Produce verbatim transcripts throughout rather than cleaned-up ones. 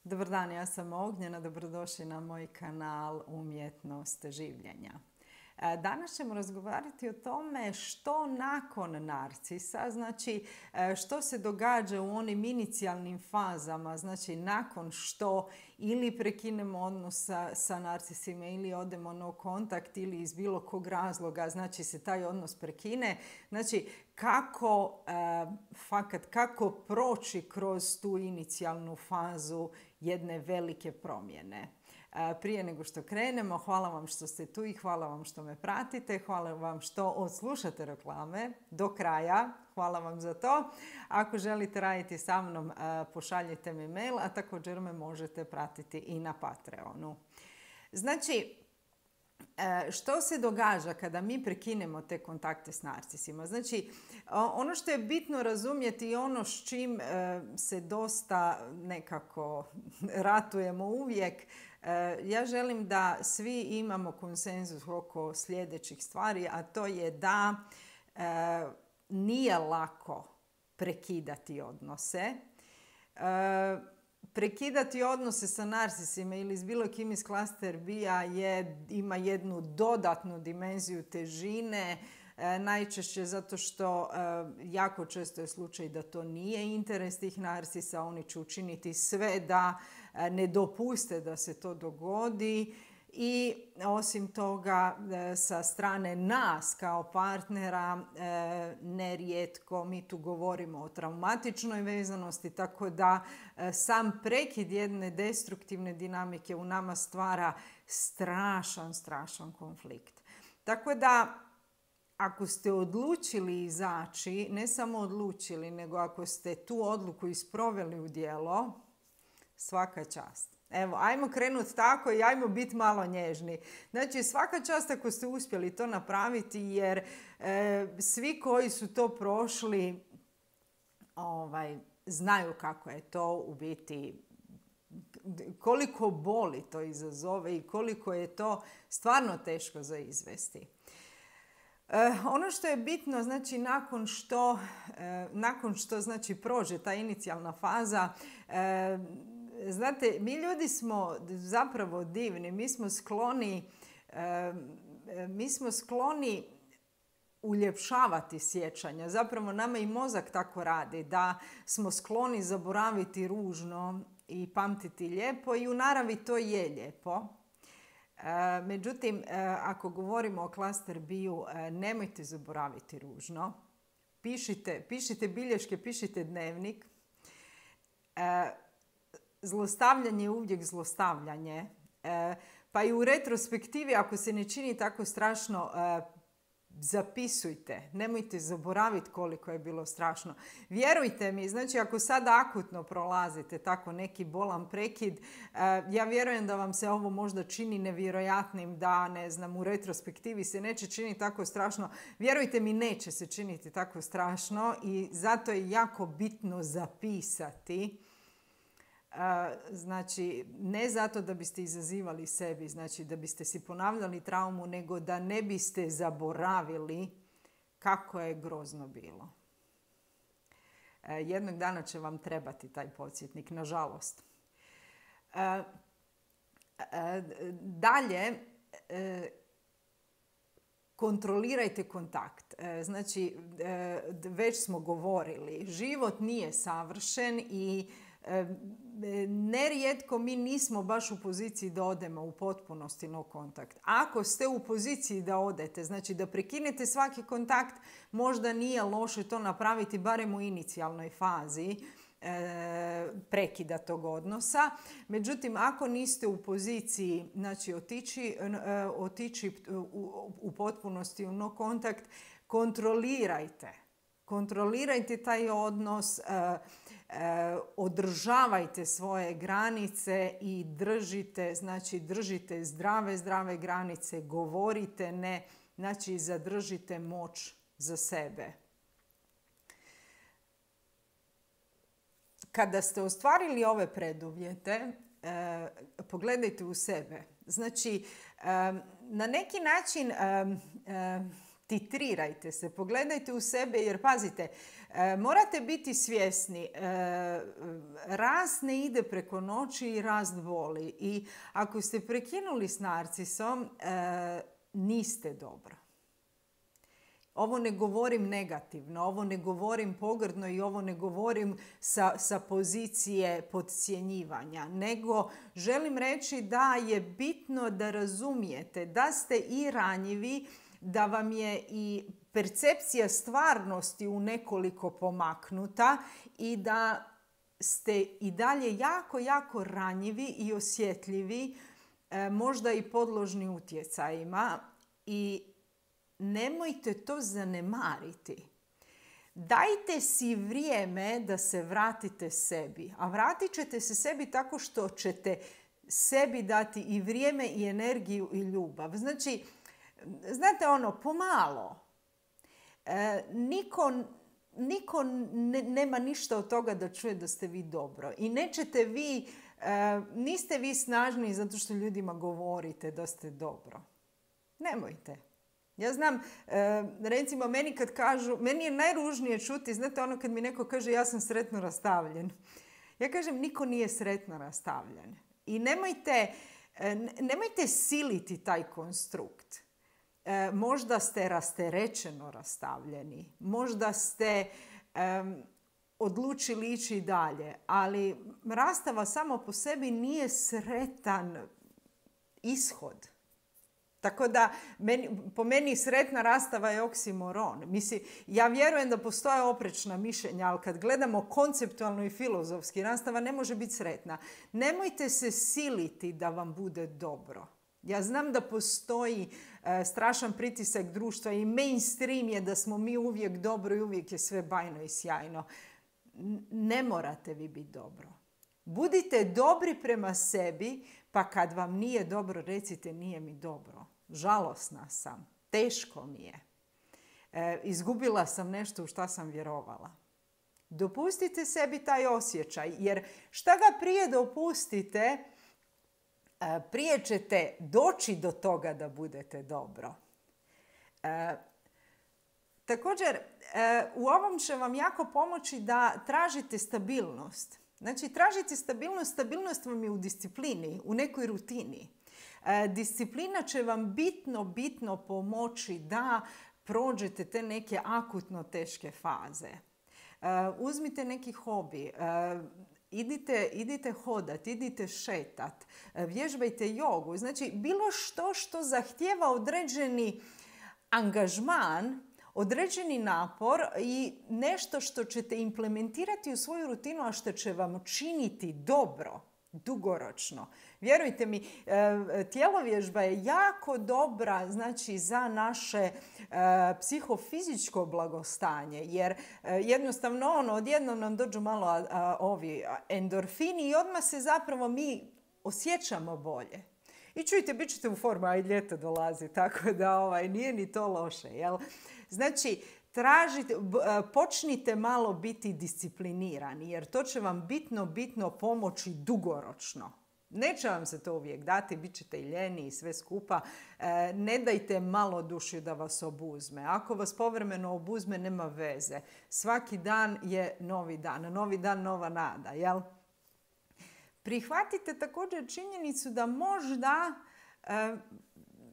Dobar dan, ja sam Ognjena, dobrodošli na moj kanal Umjetnost življenja. Danas ćemo razgovarati o tome što nakon narcisa, znači što se događa u onim inicijalnim fazama, znači nakon što ili prekinemo odnos sa, sa narcisima ili odemo no kontakt ili iz bilo kog razloga, znači se taj odnos prekine, znači kako, fakat, kako proći kroz tu inicijalnu fazu jedne velike promjene. Prije nego što krenemo, hvala vam što ste tu i hvala vam što me pratite. Hvala vam što odslušate reklame do kraja. Hvala vam za to. Ako želite raditi sa mnom, pošaljite mi mail, a također me možete pratiti i na Patreonu. Znači, što se događa kada mi prekinemo te kontakte s narcisima? Znači, ono što je bitno razumjeti i ono s čim se dosta nekako ratujemo uvijek, ja želim da svi imamo konsenzus oko sljedećih stvari, a to je da nije lako prekidati odnose. Prekidati odnose sa narcisima ili s bilo kim iz klaster B-a je, ima jednu dodatnu dimenziju težine, e, najčešće zato što e, jako često je slučaj da to nije interes tih narcisa, oni će učiniti sve da e, ne dopuste da se to dogodi. I osim toga, sa strane nas kao partnera, nerijetko mi tu govorimo o traumatičnoj vezanosti, tako da sam prekid jedne destruktivne dinamike u nama stvara strašan, strašan konflikt. Tako da, ako ste odlučili izaći, ne samo odlučili, nego ako ste tu odluku isproveli u djelo, svaka čast. Evo, ajmo krenuti tako i ajmo biti malo nježni. Znači, svaka čast ako ste uspjeli to napraviti, jer e, svi koji su to prošli ovaj, znaju kako je to u biti, koliko boli to izazove i koliko je to stvarno teško za izvesti. E, ono što je bitno, znači, nakon što, e, nakon što znači, prođe ta inicijalna faza, e, znate, mi ljudi smo zapravo divni, mi smo skloni, e, mi smo skloni uljepšavati sjećanja. Zapravo nama i mozak tako radi, da smo skloni zaboraviti ružno i pamtiti lijepo i u naravi to je lijepo. E, međutim, e, ako govorimo o klaster B-u, e, nemojte zaboraviti ružno. Pišite, pišite bilješke, pišite dnevnik. E, Zlostavljanje je uvijek zlostavljanje. E, pa i u retrospektivi, ako se ne čini tako strašno, e, zapisujte. Nemojte zaboraviti koliko je bilo strašno. Vjerujte mi, znači ako sad akutno prolazite tako neki bolan prekid, e, ja vjerujem da vam se ovo možda čini nevjerojatnim, da ne znam, u retrospektivi se neće činiti tako strašno. Vjerujte mi, neće se činiti tako strašno i zato je jako bitno zapisati. Znači, ne zato da biste izazivali sebi, znači da biste si ponavljali traumu, nego da ne biste zaboravili kako je grozno bilo. Jednog dana će vam trebati taj podsjetnik, nažalost. Dalje, kontrolirajte kontakt. Znači, već smo govorili, život nije savršen i nerijetko mi nismo baš u poziciji da odemo u potpunosti no kontakt. Ako ste u poziciji da odete, znači da prekinete svaki kontakt, možda nije loše to napraviti barem u inicijalnoj fazi e, prekida tog odnosa. Međutim, ako niste u poziciji, znači otići, e, otići u, u potpunosti u no kontakt, kontrolirajte. Kontrolirajte taj odnos, e, e, održavajte svoje granice i držite, znači držite zdrave, zdrave granice, govorite ne, znači zadržite moć za sebe. Kada ste ostvarili ove preduvjete, e, pogledajte u sebe. Znači, e, na neki način e, e, titrirajte se, pogledajte u sebe jer pazite, e, morate biti svjesni, e, rast ne ide preko noći i rast boli. I ako ste prekinuli s narcisom, e, niste dobro. Ovo ne govorim negativno, ovo ne govorim pogrdno i ovo ne govorim sa, sa pozicije podcjenjivanja, nego želim reći da je bitno da razumijete da ste i ranjivi, da vam je i percepcija stvarnosti u nekoliko pomaknuta i da ste i dalje jako, jako ranjivi i osjetljivi, e, možda i podložni utjecajima i nemojte to zanemariti. Dajte si vrijeme da se vratite sebi. A vratit ćete se sebi tako što ćete sebi dati i vrijeme i energiju i ljubav. Znači, znate ono, pomalo. E, niko, niko ne, nema ništa od toga da čuje da ste vi dobro. I nećete vi, e, niste vi snažni zato što ljudima govorite da ste dobro. Nemojte. Ja znam, recimo meni kad kažu, meni je najružnije čuti, znate ono kad mi neko kaže ja sam sretno rastavljen. Ja kažem niko nije sretno rastavljen. I nemojte, nemojte siliti taj konstrukt. Možda ste rasterećeno rastavljeni, možda ste um, odlučili ići dalje, ali rastava samo po sebi nije sretan ishod. Tako da, meni, po meni sretna rastava je oksimoron. Mislim, ja vjerujem da postoje oprečna mišljenja, ali kad gledamo konceptualno i filozofski, rastava ne može biti sretna. Nemojte se siliti da vam bude dobro. Ja znam da postoji e, strašan pritisak društva i mainstream je da smo mi uvijek dobro i uvijek je sve bajno i sjajno. N- ne morate vi biti dobro. Budite dobri prema sebi, pa kad vam nije dobro, recite nije mi dobro. Žalosna sam, teško mi je. E, izgubila sam nešto u šta sam vjerovala. Dopustite sebi taj osjećaj, jer šta ga prije dopustite, e, prije ćete doći do toga da budete dobro. E, također, e, u ovom će vam jako pomoći da tražite stabilnost. Znači, tražite stabilnost, stabilnost vam je u disciplini, u nekoj rutini. E, disciplina će vam bitno, bitno pomoći da prođete te neke akutno teške faze. E, uzmite neki hobi, e, idite, idite hodat, idite šetat, e, vježbajte jogu. Znači, bilo što što zahtijeva određeni angažman, određeni napor i nešto što ćete implementirati u svoju rutinu, a što će vam činiti dobro, dugoročno. Vjerujte mi, tjelovježba je jako dobra, znači, za naše psihofizičko blagostanje, jer jednostavno ono, odjednom nam dođu malo a, a, ovi endorfini i odmah se zapravo mi osjećamo bolje. I čujte, bit ćete u formu, a i ljeto dolazi, tako da ovaj, nije ni to loše, jel? Znači, tražite, počnite malo biti disciplinirani, jer to će vam bitno, bitno pomoći dugoročno. Neće vam se to uvijek dati, bit ćete i ljeni i sve skupa. Ne dajte malo duši da vas obuzme. Ako vas povremeno obuzme, nema veze. Svaki dan je novi dan, novi dan, nova nada, jel? Prihvatite također činjenicu da možda,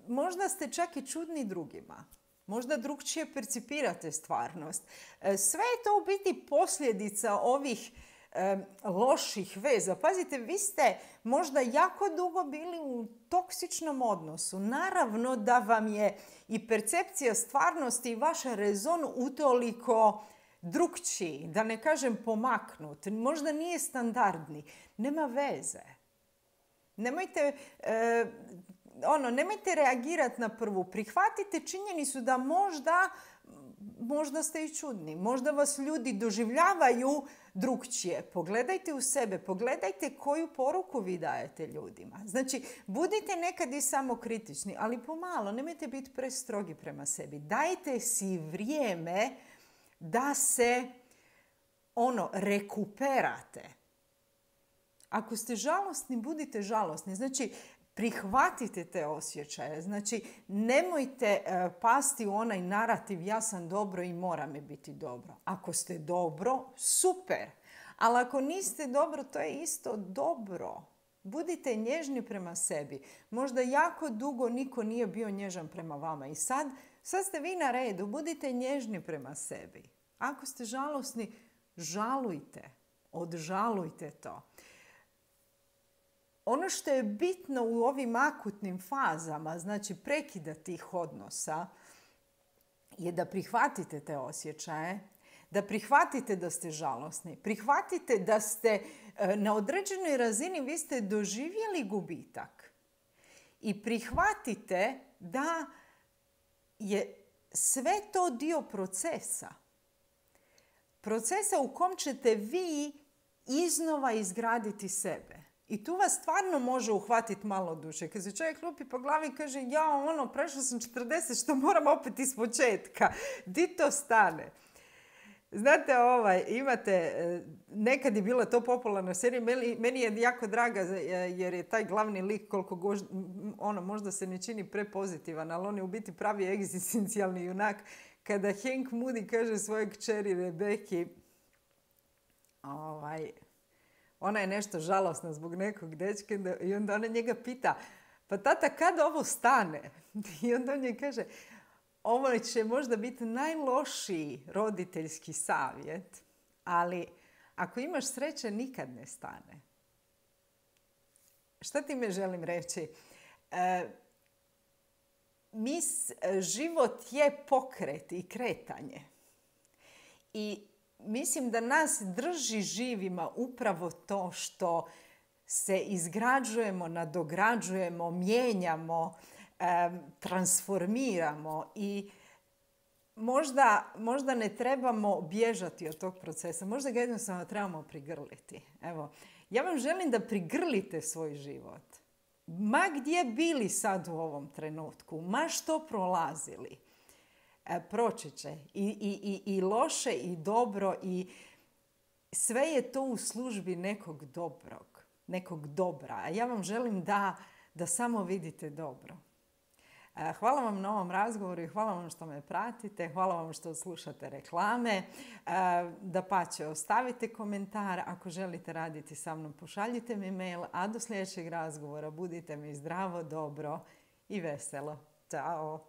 možda ste čak i čudni drugima. Možda drugčije percipirate stvarnost. Sve je to u biti posljedica ovih e, loših veza. Pazite, vi ste možda jako dugo bili u toksičnom odnosu. Naravno da vam je i percepcija stvarnosti i vaš rezon utoliko drugčiji, da ne kažem pomaknut. Možda nije standardni. Nema veze. Nemojte... E, Ono, nemojte reagirati na prvu. Prihvatite činjenicu da možda, možda ste i čudni. Možda vas ljudi doživljavaju drugčije. Pogledajte u sebe. Pogledajte koju poruku vi dajete ljudima. Znači, budite nekad i samokritični, ali pomalo. Nemojte biti prestrogi prema sebi. Dajte si vrijeme da se ono, rekuperate. Ako ste žalosni, budite žalosni. Znači, Prihvatite te osjećaje. Znači, nemojte uh, pasti u onaj narativ ja sam dobro i mora mi biti dobro. Ako ste dobro, super. Ali ako niste dobro, to je isto dobro. Budite nježni prema sebi. Možda jako dugo niko nije bio nježan prema vama. I sad, sad ste vi na redu. Budite nježni prema sebi. Ako ste žalosni, žalujte. Odžalujte to. Ono što je bitno u ovim akutnim fazama, znači prekida tih odnosa, je da prihvatite te osjećaje, da prihvatite da ste žalosni, prihvatite da ste na određenoj razini, vi ste doživjeli gubitak. I prihvatite da je sve to dio procesa. Procesa u kom ćete vi iznova izgraditi sebe. I tu vas stvarno može uhvatiti malo duše. Kad se čovjek lupi po glavi i kaže ja ono, prešla sam četrdeset, što moram opet iz početka. Di to stane? Znate, ovaj, imate, nekad je bila to popularna serija, meni, meni je jako draga jer je taj glavni lik koliko gož, ono, možda se ne čini prepozitivan, ali on je u biti pravi egzistencijalni junak. Kada Hank Moody kaže svojoj kćeri Rebeki, ovaj, ona je nešto žalosna zbog nekog dečka i onda ona njega pita, pa tata, kad ovo stane? I onda on je kaže, ovo će možda biti najlošiji roditeljski savjet, ali ako imaš sreće, nikad ne stane. Šta ti me želim reći? E, mis, život je pokret i kretanje. I mislim da nas drži živima upravo to što se izgrađujemo, nadograđujemo, mijenjamo, transformiramo i možda, možda ne trebamo bježati od tog procesa. Možda ga jednostavno trebamo prigrliti. Evo, ja vam želim da prigrlite svoj život. Ma gdje bili sad u ovom trenutku, ma što prolazili, e, proći će. I, i, i, i loše i dobro i sve je to u službi nekog dobrog, nekog dobra. A ja vam želim da, da samo vidite dobro. Hvala vam na ovom razgovoru i hvala vam što me pratite. Hvala vam što slušate reklame. Dapače, ostavite komentar. Ako želite raditi sa mnom, pošaljite mi mail. A do sljedećeg razgovora budite mi zdravo, dobro i veselo. Ćao!